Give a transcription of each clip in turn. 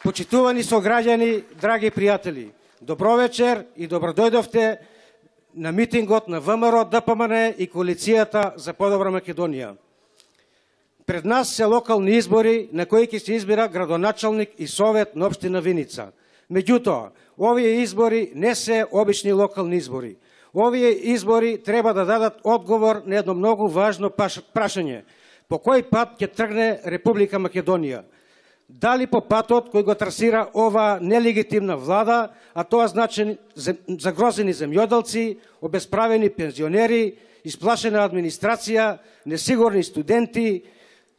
Почитувани сограѓани, драги пријатели, добро вечер и добродојдовте на митингот на ВМРО, ДПМН и Коалицијата за подобра Македонија. Пред нас се локални избори на кои ќе се избира градоначалник и совет на општина Виница. Меѓутоа, овие избори не се обични локални избори. Овие избори треба да дадат одговор на едно многу важно прашање. По кој пат ќе тргне Република Македонија? Дали по патот кој го трасира ова нелегитимна влада, а тоа значи загрозени земјоделци, обесправени пензионери, исплашена администрација, несигурни студенти,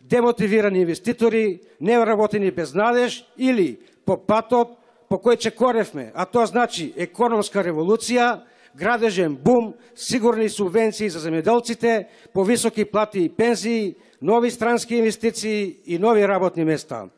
демотивирани инвеститори, неработени без надеж, или по патот по кој чекоревме, а тоа значи економска револуција, градежен бум, сигурни субвенции за земјоделците, повисоки плати и пензии, нови странски инвестиции и нови работни места.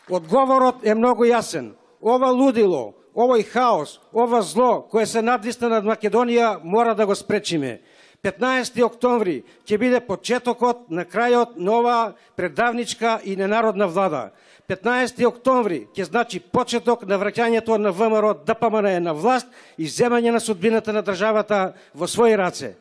Одговорот е многу јасен. Ова лудило, овој хаос, ова зло кое се надвисна над Македонија мора да го спречиме. 15. октомври ќе биде почетокот на крајот на ова предавничка и ненародна влада. 15. октомври ќе значи почеток на враќањето на ВМРО, ДПМН на власт и земање на судбината на државата во своји раце.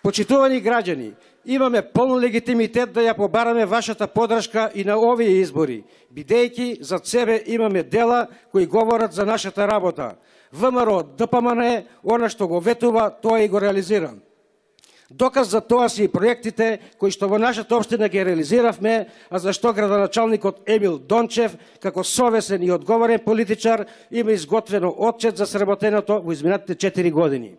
Почитувани граѓани, имаме полн легитимитет да ја побараме вашата поддршка и на овие избори, бидејќи зад себе имаме дела кои говорат за нашата работа. ВМРО, ДПМН, она што го ветува, тоа и го реализира. Доказ за тоа се и проектите кои што во нашата општина ги реализиравме, а зашто градоначалникот Емил Дончев, како совесен и одговорен политичар, има изготвено отчет за сработеното во изминатите 4 години.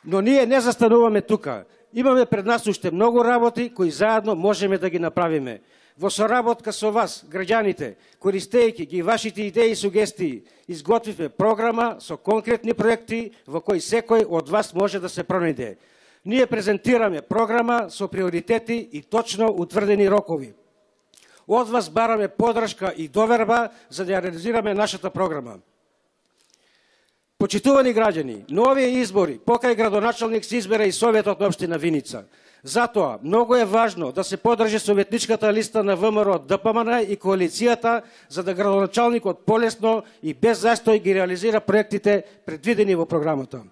Но ние не застануваме тука. Имаме пред нас уште многу работи кои заедно можеме да ги направиме. Во соработка со вас, граѓаните, користејќи ги вашите идеи и сугестии, изготвивме програма со конкретни проекти во кои секој од вас може да се пронајде. Ние презентираме програма со приоритети и точно утврдени рокови. Од вас бараме поддршка и доверба за да ја реализираме нашата програма. Почитувани граѓани, на овие избори покрај градоначалник се избера и советот на општина Виница. Затоа, многу е важно да се поддржи советничката листа на ВМРО, ДПМН и Коалицијата, за да градоначалникот полесно и без застој ги реализира проектите предвидени во програмата.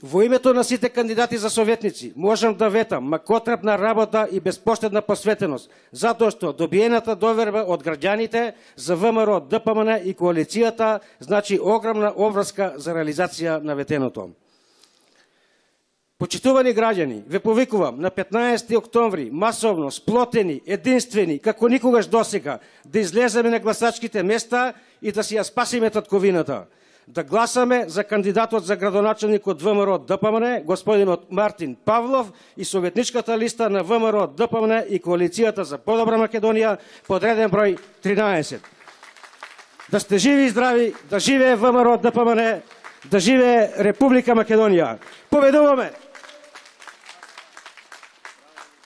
Во името на сите кандидати за советници, можам да ветам макотрапна работа и безпоштедна посветеност, затоа што добиената доверба од граѓаните за ВМРО, ДПМН и Коалицијата значи огромна обврска за реализација на ветеното. Почитувани граѓани, ве повикувам на 15. октомври масовно, сплотени, единствени, како никогаш досега, да излеземе на гласачките места и да си ја спасиме татковината. Да гласаме за кандидатот за градоначалник од ВМРО, ДПМН, господинот Мартин Павлов и советничката листа на ВМРО, ДПМН и Коалицијата за подобра Македонија, подреден број 13. Да сте живи и здрави, да живее ВМРО, ДПМН, да живее Република Македонија. Победуваме!